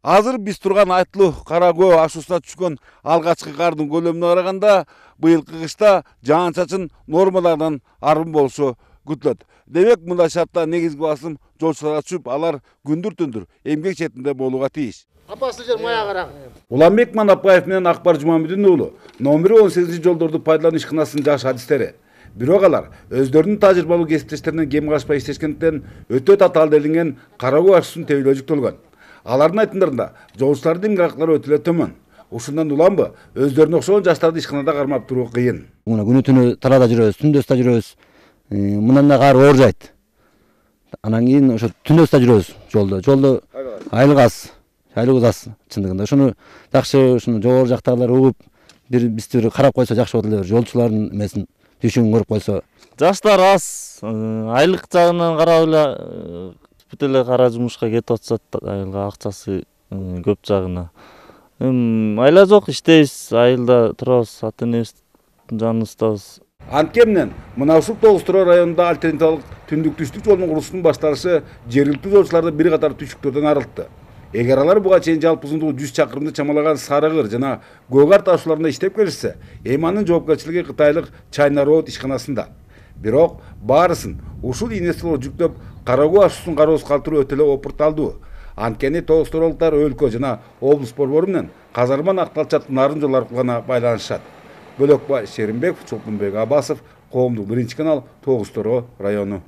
Азыр биз турган Айтылуу Кара Көө ашуусуна түшкөн алгачкы кардын көлөмүнө караганда быйылкы кышта жаан-чачын нормалардан арым болушу күтүлөт. Демек мындай шартта негизги басым жолчуларга түшүп, алар күндүр-түндүр эмгек четинде болууга тийиш. Апасы жер мая карак. Уланбек Манапаев менен Акбар Жумамедин уулу номери 18 жолдорду пайдалануу ишканасынын жаш адистери. Бирок алар өздөрүнүн тажрыйбалуу кесиптештеринен кем качпай иштешкендиктен өтө татаал делинген Кара Көө ашуусун тебелөө жүктөлгөн. Алардын айтымдарында жолчулардын эмгек акылары өтө эле төмөн. Ушундан уланбы өздөрүнө окшогон жаштарды ишканада кармап туруу кыйын. Күнү түнү талаада жүрөбүз, түндөс да жүрөбүз. Мындан да кары оор жайт. Анан кийин ошо түндөс да жүрөбүз жолдо. Жолдо айлык аз чындыгында. Ушуну жакшы ушуну жогору жактагылар угуп, бизди бир карап койсо жакшы болот эле, жолчулардын эмесин түшүн көрүп койсо. Жаштар аз, айлык жагынан карап эле бүт эле кара жумушка кетип атышат, айылга акчасы көп жагына. Айла жок, иштейбиз, айылда турабыз, ата-энебиздин жаныбыздабыз. Анткени мына ушул Тогуз-Туроо районунда альтернативалык түндүк-түштүк жолдун курулушунун башталышы жергиликтүү жолчуларды бир катар түшүктөрдөн арылтты. Эгер алар буга чейин жалпы узундугу 100 чакырымды чамалаган Сарыгыр жана Көгар ташууларында иштеп келишсе, эми анын жоопкерчилиги кытайлык China Road ишканасында. Бирок баарысын ушул инвесторлор жүктөп Кара Көө ашуусун кароосуз калтыруу өтө эле опурталдуу. Анткени Тогуз-Туроолуктар өлкө жана облус борбору менен Казарман Акталчат нарын жол аркылуу гана байланышат. Бөлөкбай Шеримбеков, Чолпонбек Абасов, Коомдук 1 канал, Тогуз-Туроо району.